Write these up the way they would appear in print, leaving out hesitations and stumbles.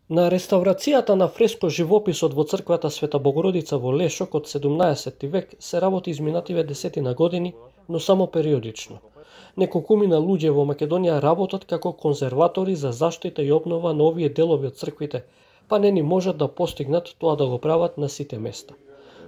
На реставрацијата на фреско живописот во црквата Света Богородица во Лешок од 17 век се работи изминативе десетина години, но само периодично. Неколкумина луѓе во Македонија работат како конзерватори за заштита и обнова на овие делови од црквите, па не ни можат да постигнат тоа да го прават на сите места.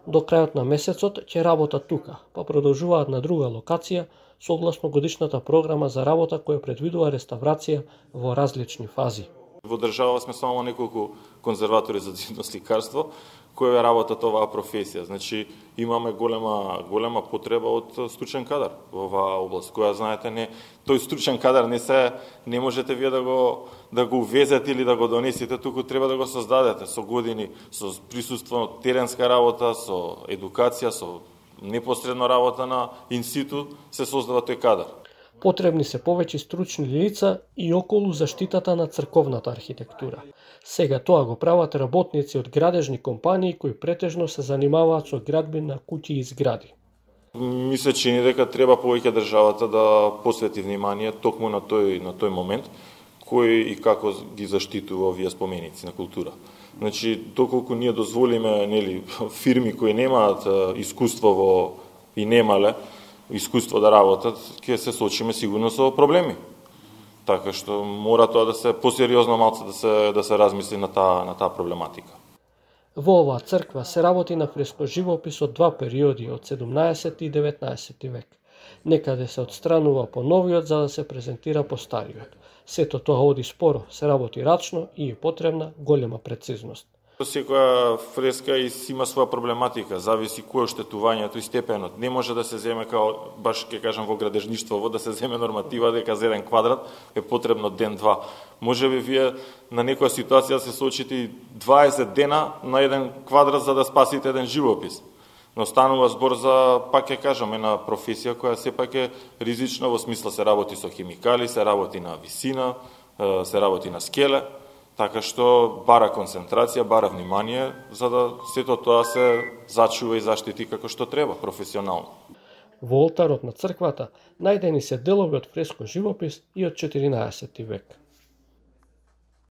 До крајот на месецот ќе работат тука, па продолжуваат на друга локација, согласно годишната програма за работа која предвидува реставрација во различни фази. Во држава сме само неколку конзерватори за цветно сликарство кои работат оваа професија. Значи имаме голема потреба од стручен кадар во оваа област, која знаете тој стручен кадар не можете вие да го увезете или да го донесете, туку треба да го создадете со години, со присуство, теренска работа, со едукација, со непосредна работа на институт се создава тој кадар. Потребни се повеќе стручни лица и околу заштитата на црковната архитектура. Сега тоа го прават работници од градежни компании кои претежно се занимаваат со градби на куќи и згради. Ми се чини дека треба повеќе државата да посвети внимание токму на тој момент, кој и како ги заштитува овие споменици на култура. Значи, доколку ние дозволиме фирми кои немаат искуство и немале искуство да работат, ќе се соочиме сигурно со проблеми. Така што мора тоа да се посериозно малце да се размисли на таа проблематика. Во оваа црква се работи на фреско живопис од два периоди, од 17 и 19 век. Некаде се отстранува по новиот за да се презентира по стариот. Сето тоа оди споро, се работи рачно и е потребна голема прецизност. Секоја фреска има своја проблематика, зависи кој е оштетувањето и степенот. Не може да се земе баш ќе кажам во градежништво, да се земе норматива дека за еден квадрат е потребно ден-два. Можеби вие на некоја ситуација се соочите 20 дена на еден квадрат за да спасите еден живопис. Но станува збор за, пак ќе кажам, една професија која сепак е ризична, во смисла се работи со химикали, се работи на висина, се работи на скеле. Така што бара концентрација, бара внимание, за да сето тоа се зачува и заштити како што треба, професионално. Во олтарот на црквата најдени се делови од фреско живопис и од 14 век.